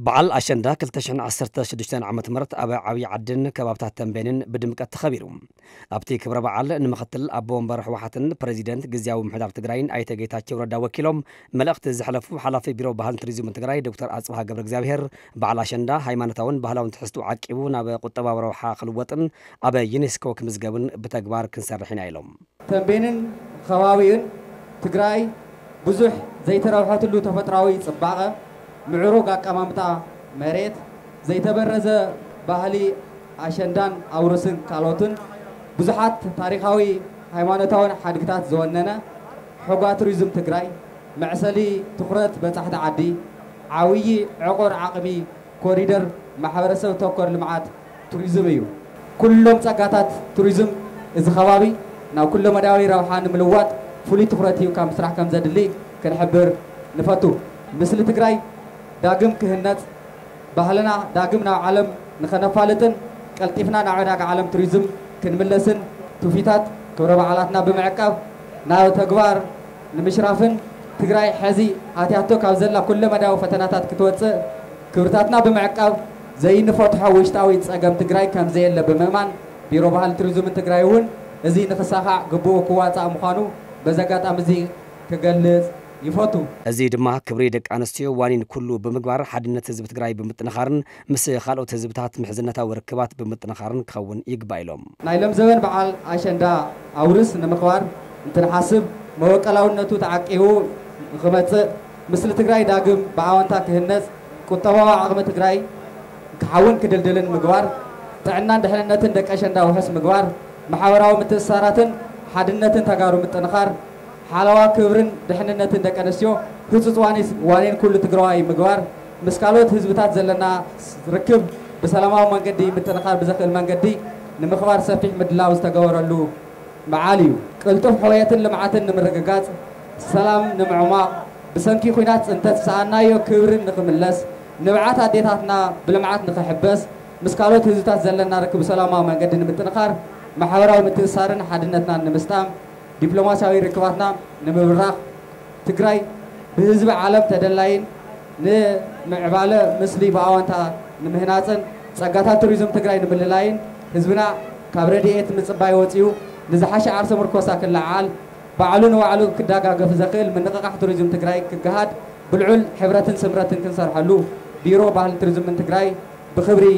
በዓል ኣሸንዳ ክልተ ሽሕን ዓሰርተ ሽዱሽተን ዓመተ ምህረት ኣብ ዓብዪ ዓድን ከባብታት ተንቤንን ብድምቀት ተኸቢሩ። ኣብቲ ክብረ በዓል ንምኽትል ኣቦ ወንበር ህወሓትን ፕሬዚደንት ግዝያዊ ምምሕዳር ትግራይን ኣይተ ጌታቸው ረዳ ወኪሎም መልእኽቲ ዘሕለፉ ሓላፊ ቢሮ ባህልን ቱሪዝምን ትግራይ ዶክተር ኣጽብሃ ገብረ እግዚኣብሔር፣ በዓል ኣሸንዳ ሃይማኖታውን ባህላውን ትሕዝትኡ ዓቂቡ ናብ ቁጠባዊ ረብሓ ክልወጥን ኣብ ዩኔስኮ ክምዝገብን ብተግባር ክንሰርሕ ኢና ኢሎም። ተንቤንን ከባቢኡን ትግራይ ብዙሕ ዘይተረብሐትሉ ተፈጥራዊ ጽባቐ፣ ምዕሩግ ኣቀማምጣ መሬት፣ ዘይተበረዘ ባህሊ ኣሸንዳን ኣውርስን ካልኦትን ብዙሓት ታሪኻዊ ሃይማኖታውን ሓድግታት ዝወነነ ሖጋ ቱሪዝም ትግራይ፣ መዕሰሊ ትኹረት በጻሕቲ ዓዲ፣ ዓብዪ ዕቑር ዓቕሚ ኮሪደር ማሕበረሰብ ተኮር ልምዓት ቱሪዝም እዩ። ኩሎም ጸጋታት ቱሪዝም እዚ ከባቢ ናብ ኩለመዳያዊ ረብሓ ንምልዋጥ ፍሉይ ትኹረት ሂብካ ምስራሕ ከም ዘድሊ ክንሕብር ንፈቱ። ምስሊ ትግራይ ዳግም ክህነጽ፣ ባህልና ዳግም ናብ ዓለም ንኸነፋልጥን ቀልጢፍና ናብ ዕዳጋ ዓለም ቱሪዝም ክንምለስን ትውፊታት ክብረ በዓላትና ብምዕቃብ ናብ ተግባር ንምሽራፍን ትግራይ ሕዚ ኣትያቶ ካብ ዘላ ኩለመዳያዊ ፈተናታት ክትወፅእ ክብርታትና ብምዕቃብ ዘይንፈትሖ ውሽጣዊ ፀገም ትግራይ ከም ዘየለ ብምእማን ቢሮ ባህል ቱሪዝምን ትግራይ እውን እዚ ንኽሳኻዕ ግቡኡ ክዋፃእ ምዃኑ በዚ ኣጋጣሚ እዚ ክገልፅ ይፈቱ። እዚ ድማ ክብሪ ደቂ ኣንስትዮ ዋኒን ኩሉ ብምግባር ሓድነት ህዝቢ ትግራይ ብምጥንኻርን ምስ ካልኦት ህዝብታት ምሕዝነታዊ ርክባት ብምጥንኻርን ክኸውን ይግባእ ኢሎም። ናይ ለምዘበን በዓል ኣሸንዳ ኣውርስ ንምኽባር እንትንሓስብ መበቀላውነቱ ተዓቂቡ ንኽመፅእ፣ ምስሊ ትግራይ ዳግም ብኣወንታ ክህነፅ፣ ቁጠባዊ ዓቕሚ ትግራይ ክሓውን ክድልድልን ምግባር፣ ጥዕናን ድሕንነትን ደቂ ኣሸንዳ ውሑስ ምግባር፣ ማሕበራዊ ምትእስሳራትን ሓድነትን ተጋሩ ምጥንኻር፣ ሓለዋ ክብርን ድሕንነትን ደቂ ኣንስትዮ ህጹጽ ዋኒስ ዋኔን ኩሉ ትግራዋይ ምግባር፣ ምስ ካልኦት ህዝብታት ዘለና ርክብ ብሰላማዊ መንገዲ ምጥንኻር ብዘኽእል መንገዲ ንምኽባር ሰፊሕ ምድላው ዝተገበረሉ በዓል እዩ። ቅልጡፍ ሕውየትን ልምዓትን ንምርግጋጽ፣ ሰላም ንምዕሟቕ፣ ብሰንኪ ኲናት ጽንተት ዝሰኣናዮ ክብሪ ንኽምለስ፣ ንብዓት ኣዴታትና ብልምዓት ንኽሕበስ፣ ምስ ካልኦት ህዝብታት ዘለና ርክብ ብሰላማዊ መንገዲ ንምጥንኻር፣ ማሕበራዊ ምትእስሳርን ሓድነትናን ንምስጣም፣ ዲፕሎማስያዊ ርክባትና ንምብራኽ፣ ትግራይ ብህዝቢ ዓለም ተደላይን ንምዕባለ ምስሊ ብኣወንታ ንምህናፅን ጸጋታት ቱሪዝም ትግራይ ንምልላይን ህዝብና ካብ ረድኤት ምጽባይ ወፂኡ ንዝሓሸ ዓርሰ ምርኮሳ ክለዓል ባዕሉ ንባዕሉ ክደጋገፍ ዘኽእል ምንቕቓሕ ቱሪዝም ትግራይ ክገሃድ ብልዑል ሕብረትን ስምረትን ክንሰርሐሉ ቢሮ ባህልን ቱሪዝምን ትግራይ ብኽብሪ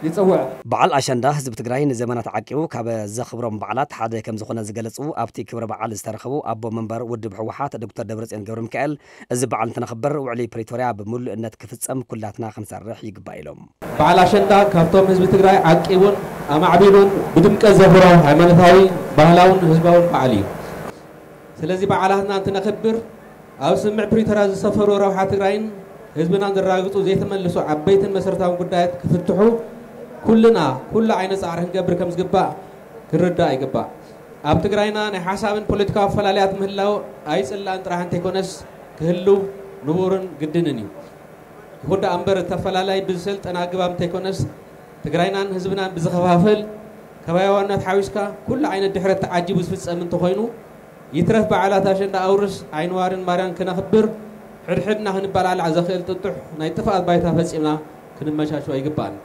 ይጽውዕ። በዓል ኣሸንዳ ህዝቢ ትግራይ ንዘመናት ዓቂቡ ካብ ዘኽብሮም በዓላት ሓደ ከም ዝኾነ ዝገለጹ ኣብቲ ክብረ በዓል ዝተረኸቡ ኣቦ መንበር ውድብ ህወሓት ዶክተር ደብረጽዮን ገብረ ሚካኤል፣ እዚ በዓል እንትነኽብር ውዕሊ ፕሪቶርያ ብምሉእነት ክፍጸም ኩላትና ክንሰርሕ ይግባእ ኢሎም። በዓል ኣሸንዳ ካብቶም ህዝቢ ትግራይ ዓቂቡን ኣማዕቢሉን ብድምቀት ዘኽብሮ ሃይማኖታዊ፣ ባህላውን ህዝባውን በዓል እዩ። ስለዚ በዓላትና እንትነኽብር ኣብ ስምምዕ ፕሪቶርያ ዝሰፈሩ ረብሓ ትግራይን ህዝብናን ዘረጋግፁ ዘይተመልሱ ዓበይትን መሰረታውን ጉዳያት ክፍትሑ ኩልና ኩሉ ዓይነት ፃዕሪ ክንገብር ከም ዝግባእ ክርዳእ ይግባእ። ኣብ ትግራይና ናይ ሓሳብን ፖለቲካዊ ኣፈላለያት ምህላው ኣይፅላእን ጥራሕ እንተይኮነስ ክህልው ንቡርን ግድንን እዩ። ይኹን ደኣ እምበር እቲ ኣፈላላይ ብዝሰልጠነ ኣገባብ እንተይኮነስ ትግራይናን ህዝብናን ብዝኸፋፍል ከባቢያውነት ሓዊስካ ኩሉ ዓይነት ድሕረት ተዓጂቡ ዝፍፀም እንተኾይኑ ይትረፍ በዓላት ኣሸንዳ ኣውርስ ዓይኒ ዋርን ማርያን ክነኽብር ሕድሕድና ክንበላላዕ ዘኽእል ጥጡሕ ናይ ጥፍኣት ባይታ ፈፂምና ክንመቻችዎ ኣይግባእን።